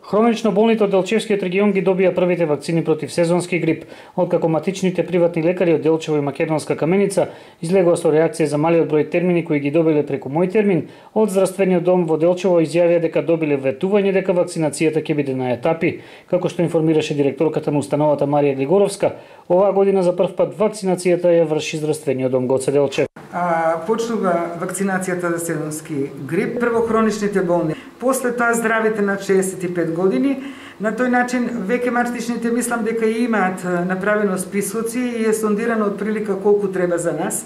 Хронично болните од Делчевскиот регион ги добија првите вакцини против сезонски грип, откако матичните приватни лекари од Делчево и Македонска Каменица излегува со реакција за малиот број термини кои ги добиле преку Мој термин. Од здравствениот дом во Делчево изјавија дека добиле ветување дека вакцинацијата ќе биде на етапи, како што информираше директорката на установата Марија Глигоровска. Оваа година за прв пат вакцинацијата ја врши здравствениот дом Гоце Делчев. Почнува вакцинацијата за сезонски грип, прво хроничните болни, после тоа здравите над 65 години. На тој начин веќе матичните мислам дека имаат направено списоци и е сондирано од прилика колку треба за нас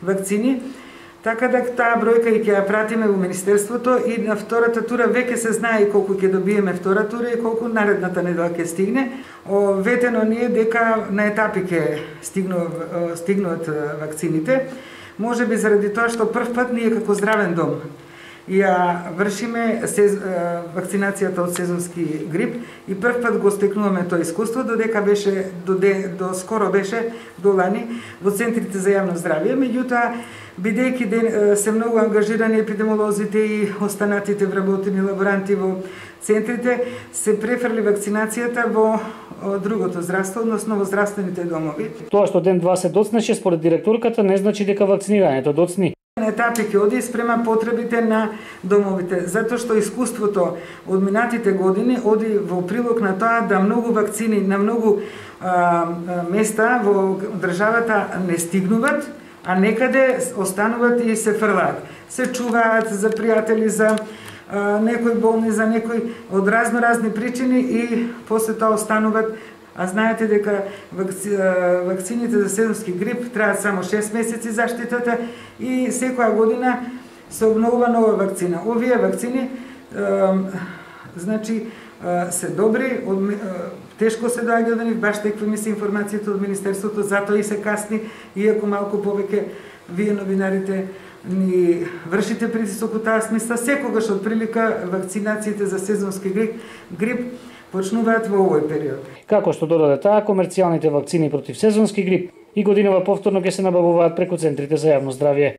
вакцини. Така да таа бројка и ќе ја пратиме во Министерството и на втората тура веќе се знае колку ќе добиеме втора тура и колку наредната недела ќе стигне. Ветено ни е дека на етапи ќе стигнуваат вакцините. Може би заради тоа што прв пат ние како здравен дом ја вршиме вакцинацијата од сезонски грип и прв пат го стекнуваме тоа искуство, додека беше до скоро беше до лани во центрите за јавно здравје. Меѓутоа, бидејќи се многу ангажирани епидемолозите и останатите вработени лаборанти во центрите, се префрли вакцинацијата во другото здравство, односно во здравствените домови. Тоа што ден-два се доцнеше според директорката не значи дека вакцинирањето доцни. На етапи ќе оди спрема потребите на домовите, затоа што искуството од минатите години оди во прилог на тоа да многу вакцини на многу места во државата не стигнуваат, а некаде остануваат и се фрлаат. Се чуваат за пријатели, за некои болни, за некои од разни причини и после тоа остануваат. А знаете дека вакцините за сезонски грип траат само 6 месеци заштитата и секоја година се обновува нова вакцина. Овие вакцини значи се добри, тешко се доаѓа до нив, баш такви ми се информациите од Министерството, затоа и се касни, иако малку повеќе вие новинарите ни вршите притисок од таа смисла. Секогаш од прилика вакцинациите за сезонски грип почнуваат во овој период. Како што додаде таа, комерцијалните вакцини против сезонски грип и годинава повторно ќе се набавуваат преку центрите за јавно здравје.